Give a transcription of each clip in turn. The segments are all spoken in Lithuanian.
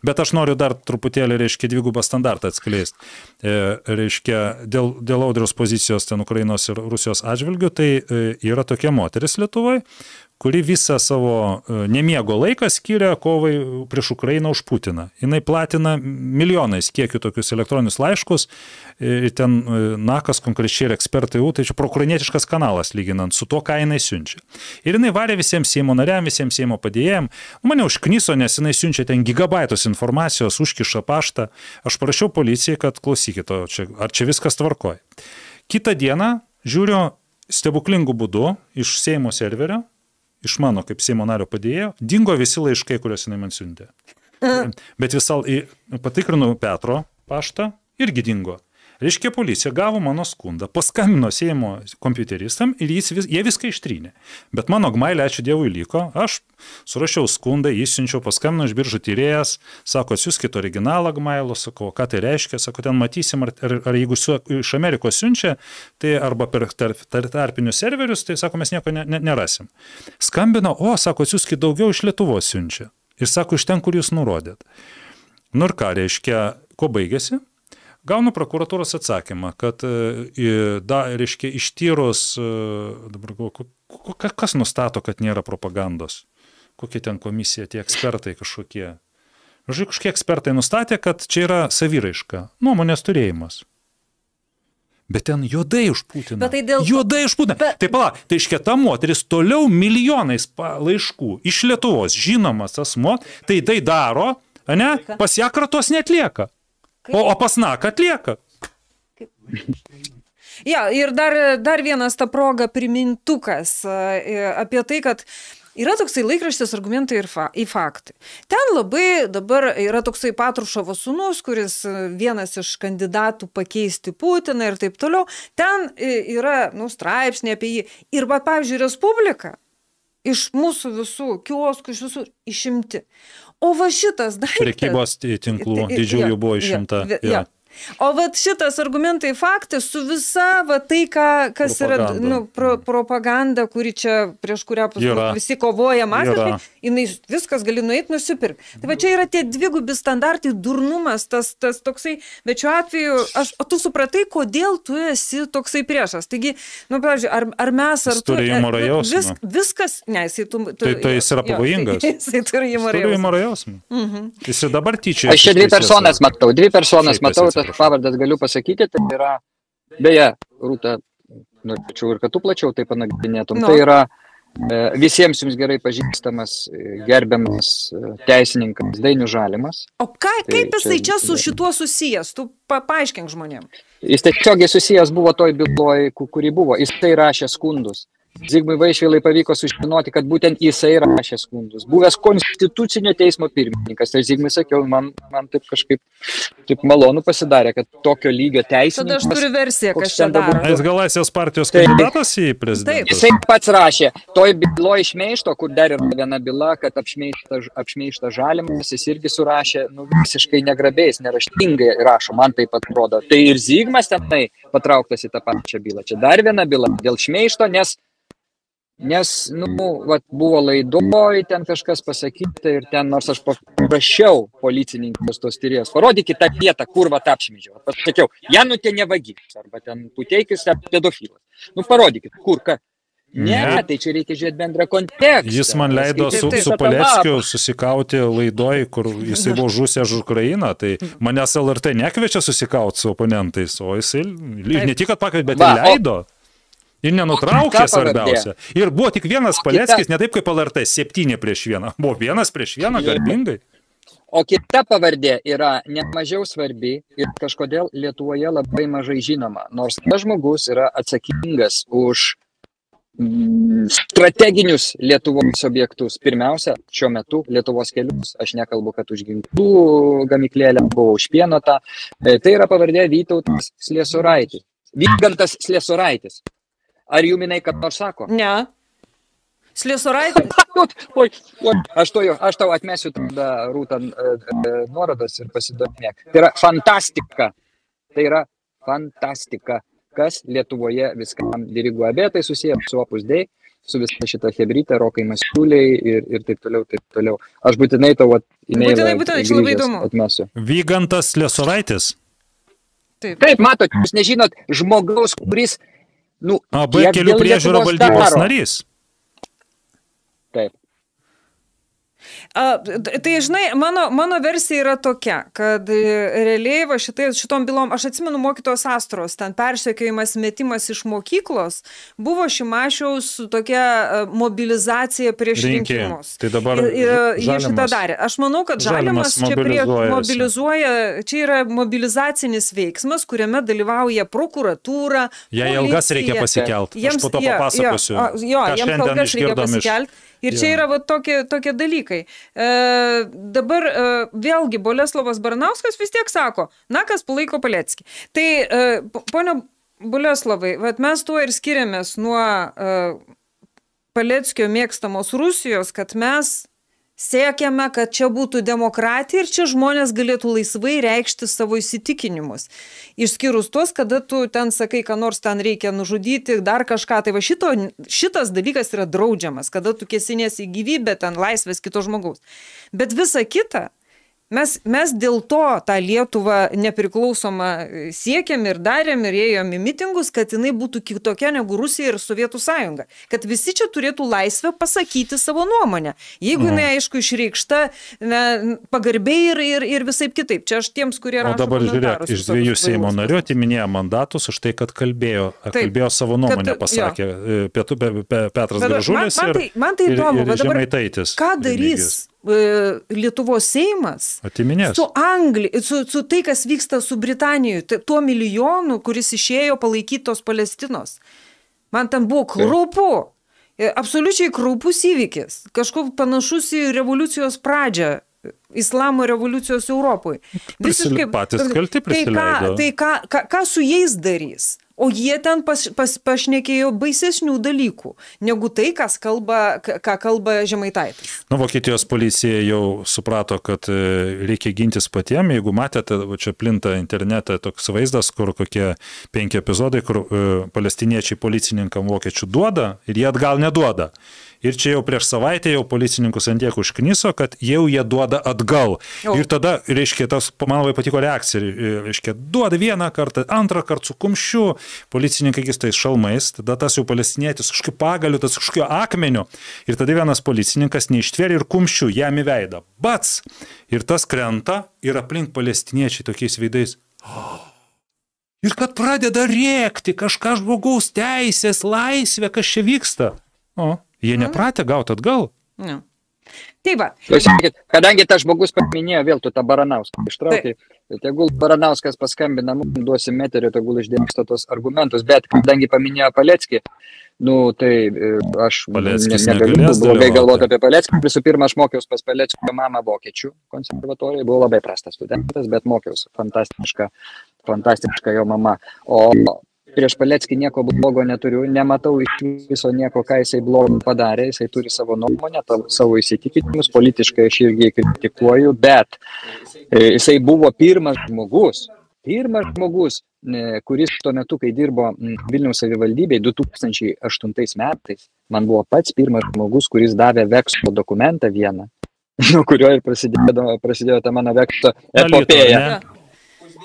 Bet aš noriu dar truputėlį, reiškia, dvigubą standartą atskleisti. Reiškia, dėl Audriaus pozicijos ten Ukrainos ir Rusijos atžvilgių, tai yra tokia moteris Lietuvoje, kuri visą savo nemiego laiką skiria kovai prieš Ukrainą už Putiną. Jinai platina milijonais kiekių tokius elektroninius laiškus, ir ten Nakas konkrečiai ir ekspertai, tai čia proukrainietiškas kanalas lyginant su to, ką jinai siunčia. Ir jinai varė visiems Seimo nariam, visiems Seimo padėjėjim. Mane užkniso, nes jinai siunčia ten gigabaitus informacijos, užkiša paštą. Aš parašiau policijai, kad klausykite, ar čia viskas tvarkoja. Kitą dieną žiūriu stebuklingų būdų iš Seimo serverio, iš mano kaip Seimo nario padėjėjo, dingo visi laiškai, kuriuos jinai man siuntė. Bet patikrinau Petro paštą, irgi dingo. Reiškia, policija gavo mano skundą, paskambino Seimo kompiuteristam ir jie viską ištrynė. Bet mano gmailė, ačiū Dievui, liko. Aš surašiau skundą, jį siunčiau, paskambino iš Biržų tyrėjas, sako, atsiųskit originalą gmailo, sako, ką tai reiškia, sako, ten matysim, ar jeigu iš Amerikos siunčia, tai arba per tarpinius serverius, tai sako, mes nieko nerasim. Skambino, sako, atsiųskit daugiau, iš Lietuvos siunčia. Ir sako, iš ten, kur jūs nurodėt. Nu ir ką, reiškia, ko baigėsi? Gaunu prokuratūros atsakymą, kad, reiškia, ištyrus, dabar kas nustato, kad nėra propagandos? Kokie ten komisija, tie ekspertai kažkokie? Žodžiu, kažkokie ekspertai nustatė, kad čia yra saviraiška, nuomonės turėjimas. Bet ten juodai už Putiną. Juodai už Putiną. Tai tai iškia ta moteris toliau milijonais laiškų iš Lietuvos žinomas asmo, tai daro, ne? Pas ją kratos neatlieka. O pas Naką atlieka. Ja, ir dar vienas ta proga primintukas apie tai, kad yra toksai laikraštis Argumentai į faktai. Ten labai dabar yra toksai Patruševo sūnus, kuris vienas iš kandidatų pakeisti Putiną ir taip toliau. Ten yra straipsniai apie jį. Ir, pavyzdžiui, Respublika iš mūsų visų kioskų, iš visų išimti. O va šitas daiktas... Prekybos tinklų didžiųjų buvo išimta. O va šitas Argumentai faktai su visa va tai, kas yra propaganda, kuri čia prieš kurią visi kovoja masiškai, jinai viskas gali nueiti nusipirkti. Tai va čia yra tie dvigubi standartai, durnumas, tas toksai, bet šiuo atveju, o tu supratai, kodėl tu esi toksai priešas. Taigi, pavyzdžiui, ar mes, ar tu... Turi humoro jausmą. Viskas, ne, jisai... Tai jis yra pavojingas. Jisai turi humoro jausmą. Jis dabar tyčia... Aš čia dvi personas matau, pavardas galiu pasakyti, tai yra, beje, Rūta, norėčiau ir kad tu plačiau tai panagrinėtum, tai yra visiems jums gerai pažįstamas, gerbiamas teisininkas Dainius Žalimas. O kaip jisai čia su šituo susijęs? Tu paaiškink žmonėm. Jis tiesiogiai susijęs buvo toj byloj, kuri buvo. Jis tai rašė skundus. Zigmui Vaišvilai pavyko sužinoti, kad būtent jisai rašė skundus. Buvęs konstitucinio teismo pirmininkas. Tai Zigmui sakiau, man taip kažkaip taip malonu pasidarė, kad tokio lygio teisininkas... Tada aš turiu versiją, kas čia daro. Jis gal Laisvės partijos kandidatas į prezidentą? Jisai pats rašė, toj byloj šmeišto, kur dar yra viena byla, kad apšmeišta Žalimas, jis irgi surašė, visiškai negrabiais, neraštingai rašo, man taip atrodo. Tai ir Zigmas tenai patrauktas į tą pačią bylą. Čia dar viena byla dėl šmeišto, nes buvo laidoj, ten kažkas pasakyta ir ten, nors aš paprašiau policininkus tos tyrėjos, parodykit tą vietą, kur apšmeižiau. Pasakiau, Janutė ne vagis, arba ten Puteikis pedofilas. Parodykit, kur, ką. Ne, tai čia reikia žiūrėti bendrą kontekstą. Jis man leido su Paleckiu susikauti laidoj, kur jisai buvo žusęs už Ukrainą, tai manęs LRT nekviečia susikauti su oponentais, o jisai ne tik pakvietė, bet ir leido. Ir nenutraukė svarbiausia. Ir buvo tik vienas Paleckis, ne taip kaip LRT, 7-1. Buvo 1-1, garbingai. O kita pavardė yra nemažiau svarbi ir kažkodėl Lietuvoje labai mažai žinoma. Nors tas žmogus yra atsakingas už strateginius Lietuvos objektus. Pirmiausia, šiuo metu Lietuvos kelius. Aš nekalbu, kad už ginklų gamyklėlę buvo už pieno tą. Tai yra pavardė Vytautas Sliesuraitis. Vygantas Sliesuraitis. Ar Juminai kad nors sako? Ne. Sliesuraitis? Aš tau atmesiu tada Rūta nuorodas ir pasidomėk. Tai yra fantastika. Tai yra fantastika, kas Lietuvoje viskam diriguoja. Bet tai susiję su Opus Dei. su visą šitą hebrytę, Rokai Masiuliai ir taip toliau, taip toliau. Aš būtinai tavo e-mailą čia labai įdomu. Atmesiu. Vygantas Liesovaitis? Taip, matot, jūs nežinot žmogaus, kuris, AB kelių priežiūro valdybos narys. Taip. Tai, žinai, mano versija yra tokia, kad realiai va šitom bylom, aš atsimenu mokytojos Astros, ten persekiojimas, metimas iš mokyklos, buvo Šimašiaus tokia mobilizacija prieš rinkimus. Tai dabar jie šitą darė. Aš manau, kad Žalimas čia mobilizuoja, čia yra mobilizacinis veiksmas, kuriame dalyvauja prokuratūra, Jei ilgas reikia pasikelt. Aš po to papasakosiu. Jiems ilgas reikia pasikelt. Ir čia yra va tokie dalykai. Dabar vėlgi Boleslovas Baranauskas vis tiek sako, kas palaiko Paleckį. Tai, ponia Boleslovai, mes tuo ir skiriamės nuo Paleckio mėgstamos Rusijos, kad mes siekiame, kad čia būtų demokratija ir čia žmonės galėtų laisvai reikšti savo įsitikinimus. Išskyrus tuos, kada tu ten sakai, ką nors ten reikia nužudyti, dar kažką. Tai va šitas dalykas yra draudžiamas, kada tu kėsinėsi į gyvybę, ten laisvės kito žmogaus. Bet visa kita, mes dėl to tą Lietuvą nepriklausomą siekėm ir darėm ir ėjom į mitingus, kad jinai būtų kitokia negu Rusija ir Sovietų sąjunga. Kad visi čia turėtų laisvę pasakyti savo nuomonę. Jeigu jinai, aišku, išreikšta pagarbiai ir visaip kitaip. Čia aš tiems, kurie rašo dabar žiūrėk, iš 2 Seimo narių atiminėjo mandatus už tai, kad kalbėjo savo nuomonę, pasakė Petras Gražulis ir Žemaitaitis. Ką darys Lietuvos Seimas su Anglija, su tai, kas vyksta su Britanijoje, tuo milijonu, kuris išėjo palaikyti tos Palestinos. Man ten buvo kraupu, absoliučiai kraupus įvykis, kažkoks panašus į revoliucijos pradžią, islamo revoliucijos Europoje. Patys kalti prisileido. Tai ką su jais darys? O jie ten pašnekėjo baisesnių dalykų, negu tai, ką kalba Žemaitaitis. Vokietijos policija jau suprato, kad reikia gintis patiem. Jeigu matėte, čia plinta internete toks vaizdas, kur kokie 5 epizodai, kur palestiniečiai policininkam vokiečių duoda ir jie atgal neduoda. Ir čia jau prieš savaitę jau policininkus ant tiek užkniso, kad jau jie duoda atgal. Ir tada, reiškia, man labai patiko reakcija, reiškia, duoda vieną kartą, antrą kartą su kumščiu, policininkai tais šalmais, tada tas jau palestinietis kažkokiu pagaliu, tas kažkokiu akmeniu. Ir tada vienas policininkas neištvėrė ir kumščiu jam į veidą. Bats! Ir tas krenta ir aplink palestiniečiai tokiais veidais. Ir kad pradeda rėkti kažką žmogaus teisės, laisvė, kas čia vyksta. Jie nepratę gauti atgal. Taip va. Kadangi tas žmogus paminėjo, vėl tu tą Baranauską ištraukai, tegul Baranauskas paskambina, mums duosim eterį, tegul išdėmsta tos argumentus, bet kadangi paminėjo Paleckį, tai aš negaliu blogai galvoti apie Paleckį. Visų pirma, aš mokiausi pas Paleckio mamą vokiečių konservatorijoje, buvau labai prastas studentas, bet mokiausi, fantastiška jo mama. O prieš Paleckį nieko blogo neturiu, nematau iš viso nieko, ką jisai blogo padarė, jisai turi savo nuomonę, savo įsitikinimus, politiškai aš irgi kritikuoju, bet jisai buvo pirmas žmogus, kuris tuo metu, kai dirbo Vilniaus savivaldybėje 2008 metais, man buvo pats pirmas žmogus, kuris davė vekslo dokumentą vieną, nuo kurio ir prasidėjo ta mano vekslo epopėja.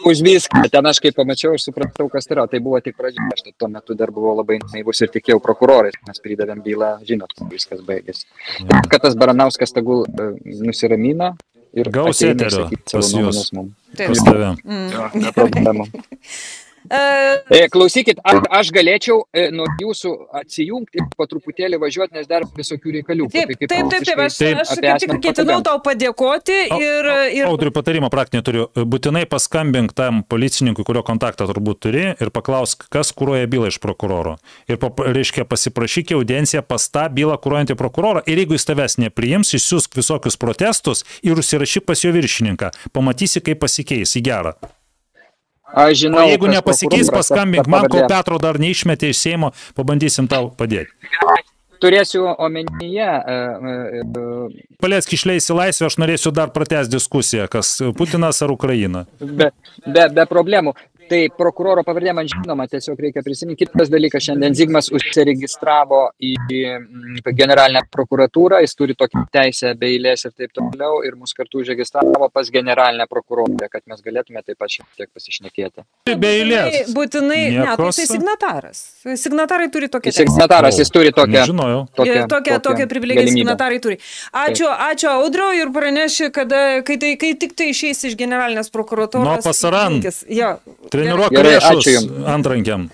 Už viską. Ten aš kai pamačiau, aš supratau, kas yra. Tai buvo tik pradžia. Aš tuo metu dar buvau labai naivus ir tikėjau prokurorais. Mes pridavėm bylą, žinot, viskas baigėsi. Kad tas Baranauskas tegul nusiramina ir gaus eterio pas jūs. Pas tave. Neproblemų. Klausykit, aš galėčiau nuo jūsų atsijungti ir po truputėlį važiuoti, nes dar visokių reikalių. Taip, aš kaip tik ketinau tau padėkoti ir... Audriui patarimą praktinį turiu. Būtinai paskambink tam policininkui, kurio kontaktą turbūt turi, ir paklausk, kas kuruoja bylą iš prokuroro. Ir, reiškia, pasiprašyk audienciją pas tą bylą kuruojantį prokurorą ir jeigu jis tavęs nepriims, išsiųsk visokius protestus ir užsirašyk pas jo viršininką. Pamatysi, kaip pasikeis į gerą. Aš žinau, o jeigu nepasikeis, paskambink man, kol Petro dar neišmetė iš Seimo, pabandysim tau padėti. Turėsiu omenyje... Paleckį išleis į laisvę, aš norėsiu dar pratęsti diskusiją, kas Putinas ar Ukraina. Be problemų. Tai prokuroro pavardė man žinoma, tiesiog reikia prisiminti. Kitas dalykas, šiandien Zigmas užsiregistravo į generalinę prokuratūrą, jis turi tokį teisę be eilės ir taip toliau, ir mus kartu užregistravo pas generalinę prokurorę, kad mes galėtume taip pat šiek tiek pasišnekėti. Be eilės. Būtinai, ne, tai jisai signataras. Signatarai turi tokią teisę. Signataras, jis turi tokią privilegiją signatarai turi. Ačiū Audriau ir praneši, kai tik tai išeis iš generalinės prokuratūros. Pasarant. Jo. Treniruok lėšus antrankiam.